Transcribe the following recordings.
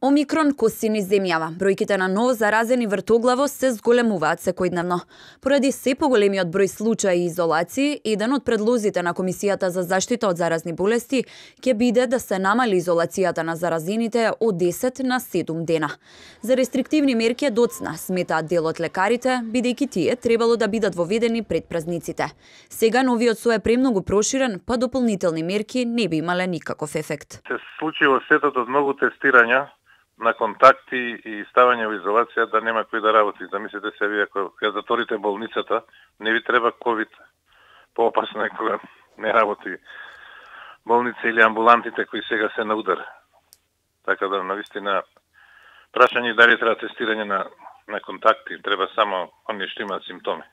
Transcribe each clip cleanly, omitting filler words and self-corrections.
Омикрон коси низ земјава. Бројките на ново заразени вртоглаво се зголемуваат секојдневно. Поради се поголемиот број случаи и изолации, еден од предлозите на Комисијата за заштита од заразни болести ќе биде да се намали изолацијата на заразените од 10 на 7 дена. За рестриктивни мерки доцна, сметаат дел од лекарите, бидејќи тие требало да бидат воведени пред празниците. Сега новиот со е премногу проширен, па дополнителни мерки не би имале никаков ефект. Се случи во светот од многу тестирања на контакти и ставање во изолација да нема кој да работи. Замислете се вие, ако ја затворите болницата, не ви треба ковид. Поопасно е кога не работи болница или амбулантите кои сега се на удар. Така да, навистина, прашање дали треба тестирање на контакти, треба само оние што имаат симптоми.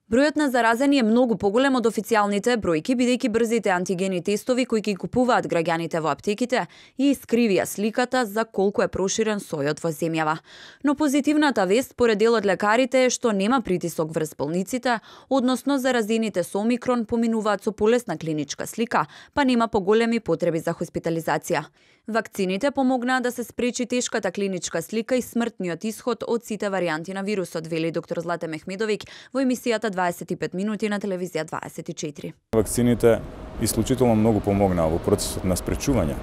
Бројот на заразени е многу поголем од официјалните бројки, бидејќи брзите антигени тестови кои ги купуваат граѓаните во аптеките и искривија сликата за колку е проширен сојот во земјава. Но позитивната вест според дел од лекарите е што нема притисок врз болниците, односно заразените со омикрон поминуваат со полесна клиничка слика, па нема поголеми потреби за хоспитализација. Вакцините помогнаа да се спречи тешката клиничка слика и смртниот исход од сите варијанти на вирусот, вели доктор Злате Мехмедовиќ во емисијата 25 минути на телевизија 24. Вакцините исклучително многу помогнаа во процесот на спречување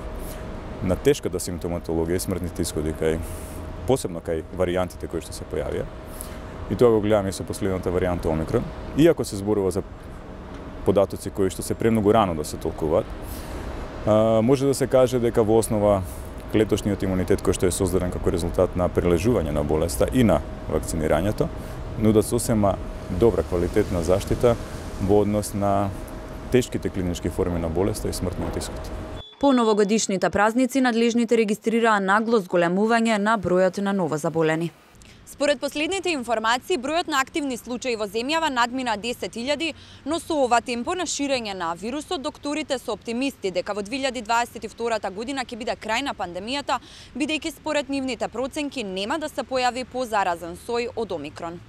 на тешката симптоматологија и смртните исходи посебно кај варијантите кои што се појавија. И тоа го гледаме со последната варијанта Омикрон. Иако се зборува за податоци кои што се премногу рано да се толкуваат, може да се каже дека во основа клеточниот имунитет кој што е создаден како резултат на прележување на болеста и на вакцинирањето, нудат сосема добра квалитетна заштита во однос на тешките клинички форми на болеста и смртниот исход. По новогодишните празници надлежните регистрираа нагло зголемување на бројот на новозаболени. Според последните информации, бројот на активни случаи во земјава надмина 10.000, но со ова темпо на ширење на вирусот, докторите се оптимисти дека во 2022 година ќе биде крај на пандемијата, бидејќи според нивните проценки нема да се појави позаразен сој од Омикрон.